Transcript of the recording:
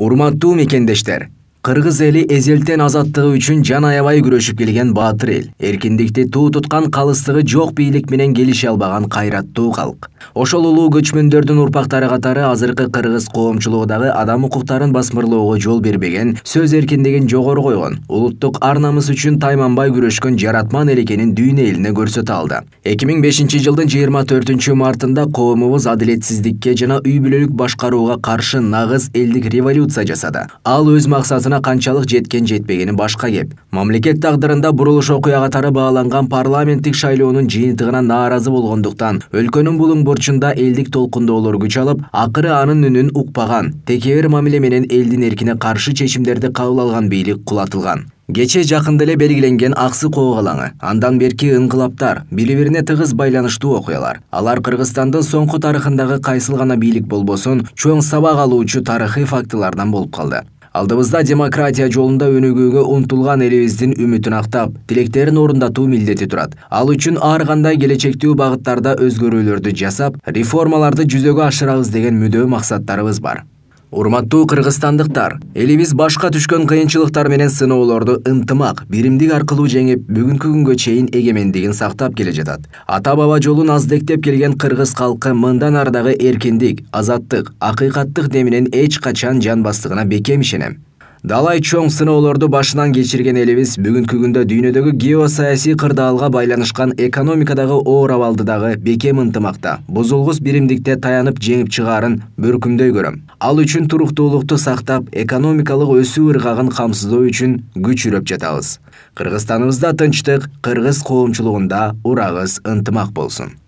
Урматтуу мекендештер, Кыргыз эли эзелтен азаттыгы үчүн жан аябай күрөшүп келген баатыр эл. Эркиндикти туу туткан калыстыгы жок бийлик менен келише албаган кайраттуу калк. Ошол улуу көчмөндөрдүн урпактары катары азыркы кыргыз коомчулугу дагы адам укуктарын басмырлоого жол бербеген, сөз эркиндигин жогору койгон, улуттук ар намыс үчүн тайманбай күрөшкөн жаратман эл экенин дүйнө элине көрсөтө алды. 2005-жылдын 24-мартында коомубуз адилетсиздикке жана үй бүлөлүк башкарууга каршы нагыз элдик революция жасады. Ал өз максатына канчалык жеткен жетпегени башка кеп. Мамлекет тагдырында бурулуш окуя катары бааланган парламенттик шайлоонун жыйынтыгына нааразы болгондуктан өлкөнүн булуң бурчунда элдик толкундоолор күч алып, акыры анын үнүн укпаган, текебер мамиле менен элдин эркине каршы чечимдерди кабыл алган бийлик кулатылган. Кече жакында эле белгиленген Аксы коогалаңы, андан берки ыңгылаптар, бири-бирине тыгыз байланыштуу окуялар. Алар Кыргызстандын соңку тарыхындагы кайсыл гана бийлик болбосун, чоң сабак алуучу тарыхый фактылардан болуп калды. Алдыбызда демократия жолунда өнүгүүгө умтулган элибиздин үмүтүн актап, тилектерин орундатуу милдети турат. Ал үчүн ар кандай келечектүү багыттарда өзгөрүүлөрдү жасап, реформаларды жүзөгө ашырабыз деген мүдөө максаттарыбыз бар. Урматтуу кыргызстандыктар, элибиз башка түшкөн кыйынчылыктар менен сыноолорду ынтымак, биримдик аркылуу жеңип, бүгүнкү күнгө чейин эгемендигин сактап келе жатат. Ата-баба жолун аздектеп келген кыргыз калкы мындан ары дагы эркиндик, азаттык, акыйкаттык деминен эч качан жанбастыгына бекем ишенем. Далай чоң сыноолорду башынан кечирген элибиз бүгүнкү күндө дүйнөдөгү геосаясий кырдаалга байланышкан экономикадагы оор абалды дагы бекем ынтымакта, бузулгус биримдикте таянып жеңип чыгаарын бөркүмдөй көрөм. Ал үчүн туруктуулукту сактап, экономикалык өсүү ыргагын камсыздоо үчүн күч үрөп жатабыз. Кыргызстаныбызда тынчтык, кыргыз коомчулугунда урагыз ынтымак болсун.